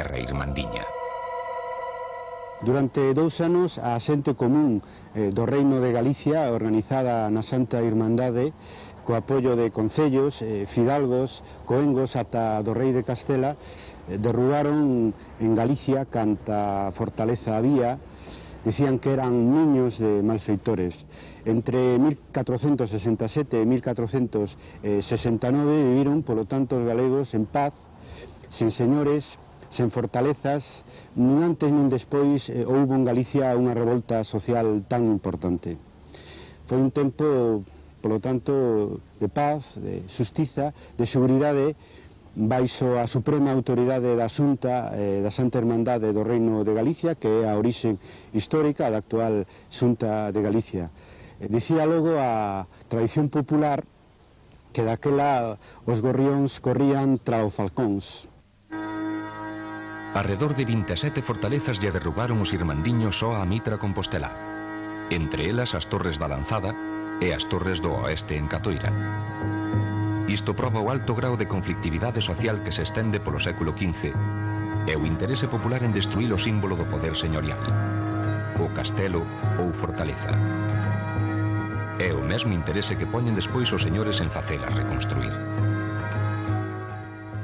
terra irmandiña. Durante 2 anos, a xente común do Reino de Galicia, organizada na Santa Irmandade, co apoio de concellos, fidalgos, coengos ata do rei de Castela, derrubaron en Galicia canta fortaleza había. Dicían que eran niños de malfeitores. Entre 1467 e 1469 viviron, polo tanto, os galegos en paz, sen señores, sen fortalezas. Nin antes nin despois houbo en Galicia unha revolta social tan importante. Foi un tempo, polo tanto, de paz, de xustiza, de seguridade, baixo a suprema autoridade da Xunta da Santa Irmandade do Reino de Galicia, que é a orixe histórica da actual Xunta de Galicia. Dicía logo a tradición popular que daquela os gorrións corrían tra os falcóns. Arredor de 27 fortalezas lle derrubaron os irmandiños só a Mitra Compostela, entre elas as Torres da Lanzada e as Torres do Oeste en Catoira. Isto proba o alto grao de conflictividade social que se estende polo século XV e o interese popular en destruir o símbolo do poder señorial, o castelo ou fortaleza. É o mesmo interese que poñen despois os señores en facela reconstruir.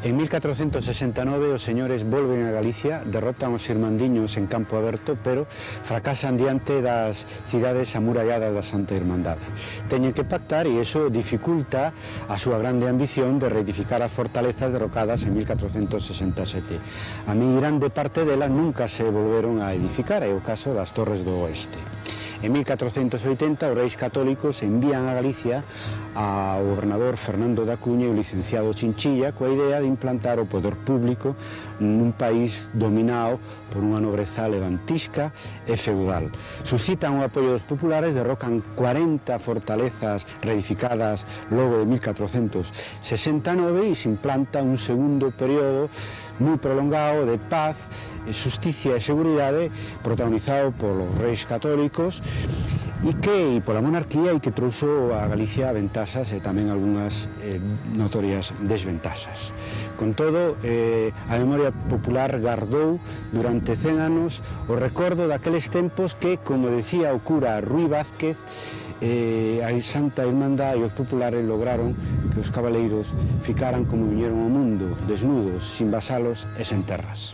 En 1469 os señores volven a Galicia, derrotan os irmandiños en campo aberto, pero fracasan diante das cidades amuralladas da Santa Irmandade. Teñen que pactar e iso dificulta a súa grande ambición de reedificar as fortalezas derrocadas en 1467. A min grande parte delas nunca se volveron a edificar, é o caso das Torres do Oeste. En 1480 os reis católicos envían a Galicia ao gobernador Fernando da Cuña e o licenciado Chinchilla coa idea de implantar o poder público nun país dominado por unha nobreza levantisca e feudal. Suscitan o apoio dos populares, derrocan 40 fortalezas reedificadas logo de 1469 e se implanta un segundo período moi prolongado de paz, xusticia e seguridade protagonizado polos reis católicos e pola monarquía e que trouxo a Galicia ventaxas e tamén algunhas notorias desventaxas. Con todo, a memoria popular gardou durante 100 anos o recordo daqueles tempos que, como decía o cura Ruy Vázquez, a Santa Irmandade e os populares lograron que os cabaleiros ficaran como viñeron ao mundo, desnudos, sin vasalos e sen terras.